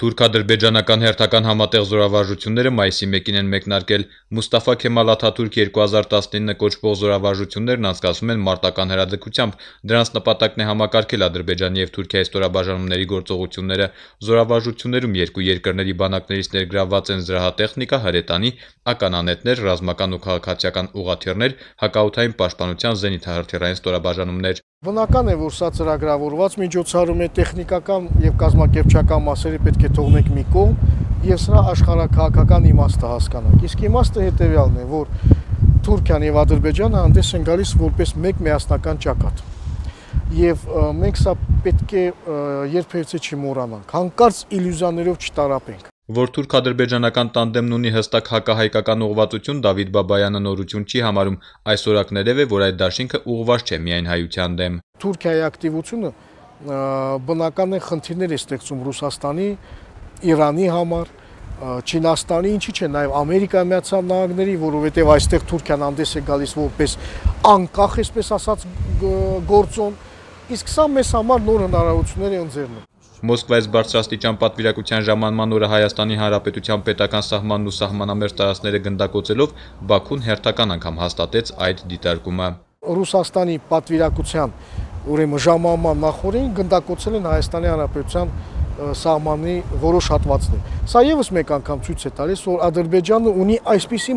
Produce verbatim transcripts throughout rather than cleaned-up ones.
Թուրք-ադրբեջանական հերթական համատեղ զորավարժությունները մայիսի մեկին են մեկնարկել։ Մուստաֆա Քեմալ Աթաթուրք երկու հազար տասնինը կոչվող զորավարժություններն անցկացվում են մարտական հրաձգությամբ։ Դրանց նպատակն է համակարգել Ադրբեջանի եւ Թուրքիայի ստորաբաժանումների գործողությունները։ Զորավարժություններում երկու երկրների բանակներից ներգրավված են զրահատեխնիկա, հրետանի, ականանետեր, ռազմական ու քաղաքացիական ուղղաթիռներ, հակաօդային պաշտպանության զենիթահրթիռային ստորաբաժանումներ։ Բնական է, որ սա ծրագրավորված միջոցառում է, տեխնիկական եւ կազմակերպչական մասերը պետք է թողնենք մի կողմ եւ սրա աշխարհաքաղաքական իմաստը հասկանանք։ Իսկ իմաստը հետեւյալն է, որ Թուրքիան եւ Ադրբեջանը հանդես են գալիս որպես մեկ միասնական ճակատ։ Եվ մենք սա պետք է երբևիցե չմոռանանք, հանկարծ իլյուզիաներով չտարապենք։ Որ թուրք-ադրբեջանական տանդեմն ունի հստակ հակահայկական ուղղվածություն, Դավիթ Բաբայանը նորություն չի համարում, այսօր ակներև է, որ այդ դաշինքը ուղղված չէ միայն հայության դեմ։ Թուրքիայի ակտիվությունը բնական է խնդիրներ է ստեղծում Ռուսաստանի, Իրանի համար, Չինաստանի, ինչի՞ չէ, նաև Ամերիկայի Միացյալ Նահանգների, որովհետև այստեղ Թուրքիան հանդես է գալիս որպես անկախ, այսպես ասած, գործոն, իսկ սա մեզ համար նոր հնարավորություններ է ընձեռնում։ Մոսկվայից բարձրաստիճան պատվիրակության ժամանման օրը Հայաստանի Հանրապետության պետական սահմանն ու սահմանամերձ տարածքները գնդակոծելով Բաքուն հերթական անգամ հաստատեց այդ դիտարկումը։ Ռուսաստանի պատվիրակության ուրեմն ժամանման նախօրին գնդակոծել են Հայաստանի Հանրապետության սահմանի որոշ հատվածներ։ Սա եւս մեկ անգամ ցույց է տալիս, որ Ադրբեջանը ունի այսպիսի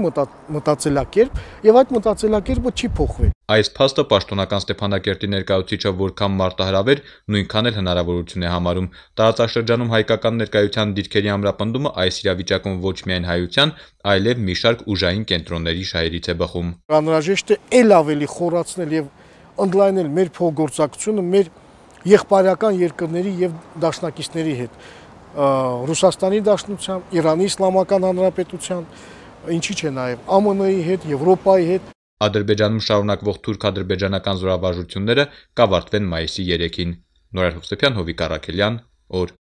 մտածելակերպ եւ այդ մտածելակերպը չի փոխվել։ Այս փաստը պաշտոնական Ստեփանակերտի ներկայացուցիչը որքան մարտահրավեր, նույնքան էլ հնարավորություն է համարում։ Տարածաշրջանում հայկական ներկայության դիրքերի ամրապնդումը այս իրավիճակում ոչ միայն հայության, այլև մի շարք ուժային կենտրոնների շահերից է բխում։ Անհրաժեշտ է ել ավելի խորացնել եւ ընդլայնել մեր փոխգործակցությունը մեր եղբայրական երկրների եւ դաշնակիցների հետ, Ռուսաստանի Դաշնությամբ, Իրանի Իսլամական Հանրապետության, ինչի՞ չէ նաեւ Α M N-ի հետ, Եվրոպայի հետ։ Ադրբեջանում շարունակվող թուրք-ադրբեջանական զորավարժությունները կավարտվեն մայիսի երեքին։ Նորայր Հովսեփյան, Հովիկ Առաքելյան, օր